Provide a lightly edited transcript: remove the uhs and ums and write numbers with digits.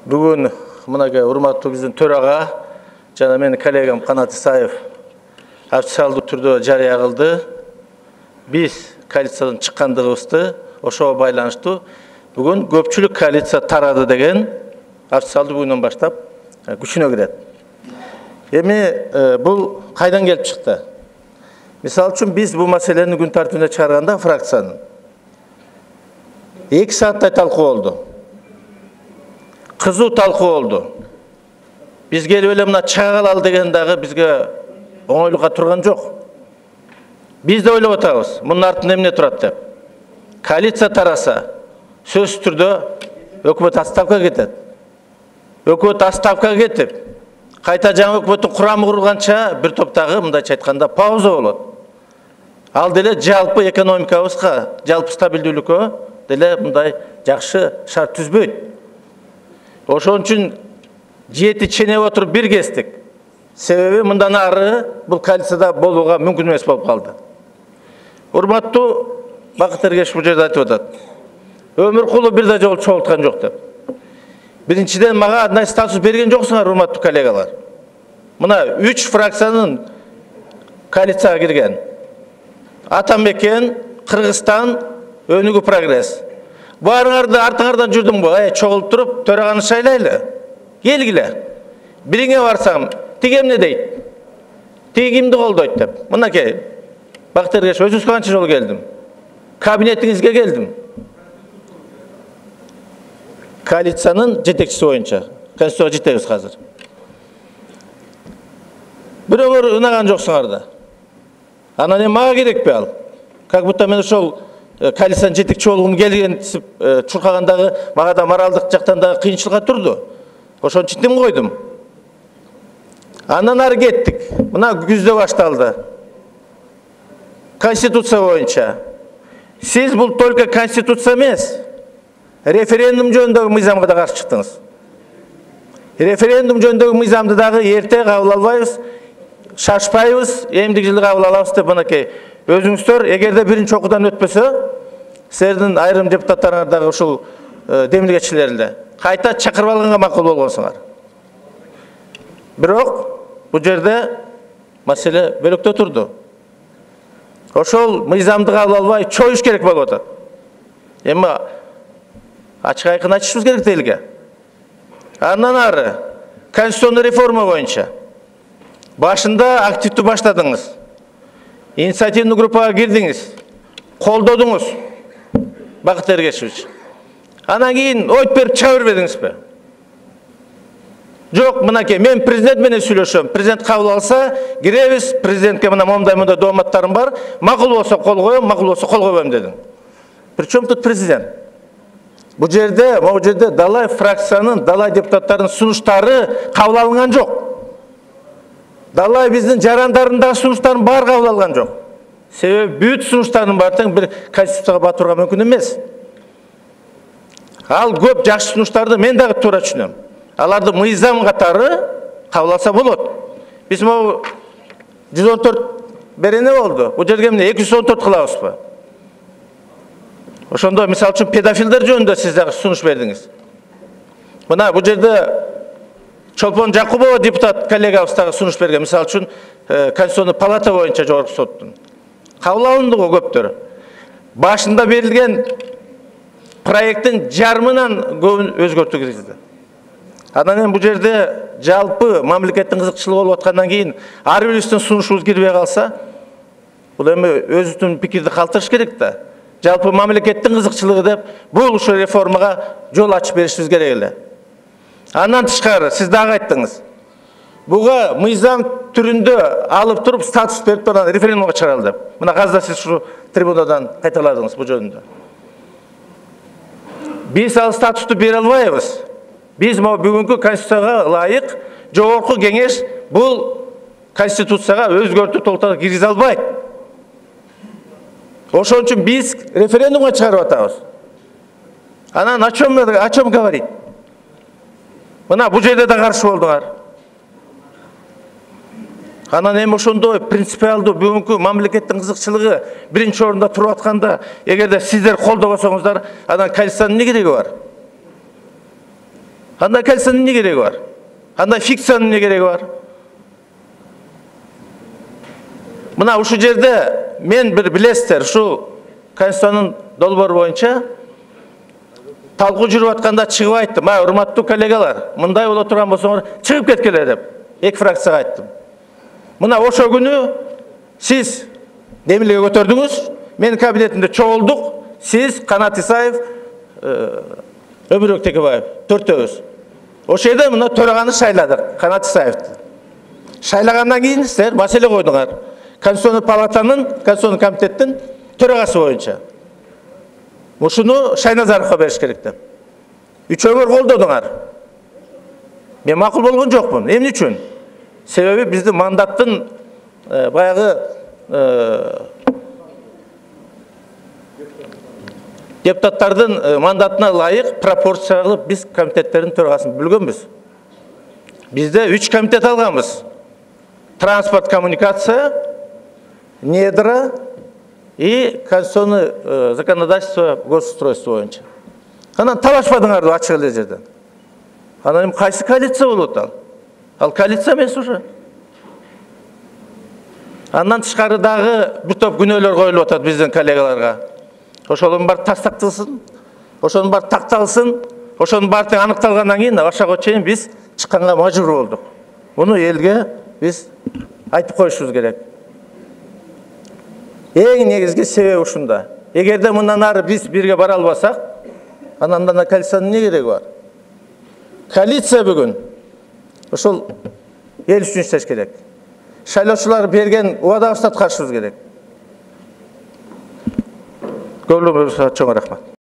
Бүгін мынага урматтуу биздин төрага жана менин коллегам Канат Исаев официалдуу түрдө жарыя кылды. Биз коалициядан чыккандыгыбызды ошого байланыштуу бүгүн көпчүлүк коалиция тарады деген официалдуу бүгүндөн баштап күчүнө кирет. Эми бул кайдан келип чыкты? Мисалы үчүн биз бул маселени күн тартибине чыгарганда фракциянын 2 сааттай талкуу болду. Кызуу талкуу болду. Биз келип эле мына чыга калалы деген дагы бизге оңойлукка турган жок. Биз да ойлоп атабыз, мунун артында эмне турат деп. Коалиция тараса, сөзсүз түрдө өкмөт отставкага кетет. Өкмөт отставкага кетип, кайта жаңы өкмөттүн курамы курулганча бир топтогу мындайча айтканда пауза болот. Ал деле жалпы экономикабызга, жалпы стабилдүүлүккө деле мындай жакшы шарт түзбөйт. Ошон үчүн жети ченеп отуруп бир кестик. Себеби мындан ары бул коалицияда болууга мүмкүн эмес болуп калды. Урматтуу Бакыт Эргешев бул жерде айтып атат. Өмүркулов бир да жолу чогулткан жок деп. Биринчиден мага андай статус берген жоксуңар, урматтуу коллегалар. Мына 3 фракциянын коалицияга кирген. Атамекен, Кыргызстан, Өнүгүү прогресс. Баарыңарды артыңардан жүрдүм го, чогулуп туруп, төраганы шайлайлы. Келгиле. Бириңе барсам, тиги эмне дейт? Тиги кимди колдойт деп. Мынакей. Бакыт Эргешев, өзүңүз канча жолу келдим? Кабинетиңизге келдим. Коалициянын жетекчиси боюнча. Конституцияга жетебиз азыр. Бирөңөр ынаган жоксуңар да. Анан эми мага керекпи ал? Как будто мен ошол коалициянын жетекчи болгум келгентип чуркагандагы мага да моралдык жактан да кыйынчылыкка турду. Ошон үчүн тим койдум. Андан ары кеттик. Мына күздө башталды. Конституция боюнча. Сиз бул только конституция эмес. Референдум жөнүндөгү мыйзамга да каршы чыктыңыз. Референдум жөнүндөгү мыйзамды дагы эрте кабыл албайбыз, шашпайбыз, эмдик жылы кабыл алабыз деп мынакей өзүңүздөр эгерде биринчи окуудан өтпөсө, силердин айрым депутаттарыңар дагы ушул демилгечилер эле кайта чакырып алганга макул болгонсуңар. Бирок бул жерде маселе бөлөктө турду. Ошол мыйзамды кабыл албай чоюш керек болуп атат. Эми ачык айкын айтышыбыз керек элге. Андан ары конституционный реформа боюнча башында активдүү баштадыңыз. Инициативный группага кирдиңиз. Колдодуңуз. Бакыт Эргешевич. Анан кийин ойт берип чыга бербедиңизби? Жок, мынакей, мен президент менен сүйлөшөм. Президент кабыл алса, киребиз. Президентке мына момундай дооматтарым бар. Макул болсо кол коем, макул болсо кол койбойм дедиң. Причем тут президент? Бул жерде далай фракциянын, далай депутаттардын сунуштары кабыл алынган жок. Далай биздин жарандарындагы сунуштардын баары кабыл алган жок. Себеби бүт сунуштардын баары тең бир конституцияга батырууга мүмкүн эмес. Ал көп жакшы сунуштарды мен дагы туура түшүнөм. Аларды мыйзам катары кабыл алса болот. Биз могу 114 берене болду. Бул жерге эмне 214 кылабызбы? Ошондо мисалы үчүн педофилдер жөнүндө сиз дагы сунуш бердиңиз. Мына бул жерде Чолпон Жакубова депутат коллегабыз дагы сунуш берген. Мисалы үчүн Конституционный палата боюнча жогорку соттун. Кабыл алынды го көптөр. Башында берилген проекттин жарымынан көбүн өзгөртүү киргизди. Анан эми бул жерде жалпы мамлекеттин кызыкчылыгы болуп аткандан кийин ар бирибиздин сунушубуз кирбей калса, бул эми өзүбүздүн пикирди калтырыш керек да. Жалпы мамлекеттин кызыкчылыгы деп бул ушул реформага жол ачып беришибиз керек эле. Андан тышкары сиз дагы айттыңыз. Буга мыйзам түрүндө алып туруп статус берип анан референдумга чыгаралы деп. Мына азыр сиз ушу трибунадан кайталадыңыз бул жөнүндө. Биз ал статусту бере албайбыз. Биз бүгүнкү конституцияга ылайык жогорку кеңеш бул конституцияга өзгөртүү толтуруу киргизе албайт. Ошон үчүн биз референдумга чыгарып атабыз. Анан о чем говорить? Мына бул жерде да каршы болдуңар. Анан эми ошондой принципиалдуу бүгүнкү мамлекеттин кызыкчылыгы биринчи орунда туруп атканда, эгерде сиздер колдобосоңуздар, анан коалициянын эмне кереги бар? Андай коалицияның эмне кереги бар? Андай фикциянын эмне кереги бар? Мына ушул жерде мен бир билесиздер, ушул Конституциянын долбоору боюнча талкуу жүрүп атканда чыгып айттым. Урматтуу коллегалар, мындай боло турган болсоңор чыгып кеткиле деп эки фракцияга айттым. Мына ошол күнү сиз демилге көтөрдүңүз, менин кабинетимде чогулдук, сиз, Канат Исаев, Өмүрбек Текебаев, төртөөбүз. Ошол жерде мына төраганы шайладык, Канат Исаевди. Шайлагандан кийин силер маселе койдуңар. Конституционный палатанын, Конституционный комитеттин төрагасы боюнча. Ушуну Шайназаровго бериш керек деп. Үчөөңөр колдодуңар. Мен макул болгон жокмун. Эмне үчүн? Себеби биздин мандаттын баягы депутаттардын мандатына ылайык пропорция кылып биз комитеттердин төрагасын бүлгөнбүз. Бизде 3 комитет алганбыз. Транспорт, коммуникация, недра и конституционное законодательство, госустройство боюнча. Анан талашпадыңар да ачык эле жерден. Анан кайсы коалиция болот ал? Ал коалиция эмес уже. Андан тышкары дагы бир топ күнөөлөр коюлуп атат биздин коллегаларга. Ошолордун баары тастакталсын, ошонун баары такталсын, ошонун баары аныкталгандан кийин ошого чейин биз чыкканга мажбур болдук. Муну элге биз айтып коюшубуз керек. Эң негизги себеби ушунда. Эгерде мындан ары биз бирге бара албасак, анан да коалициянын эмне кереги бар? Коалиция бүгүн ошол эл үчүн иштеш керек. Шайлоочулар берген убадабызды аткарышыбыз керек. Көңүлүңүзгө чоң рахмат.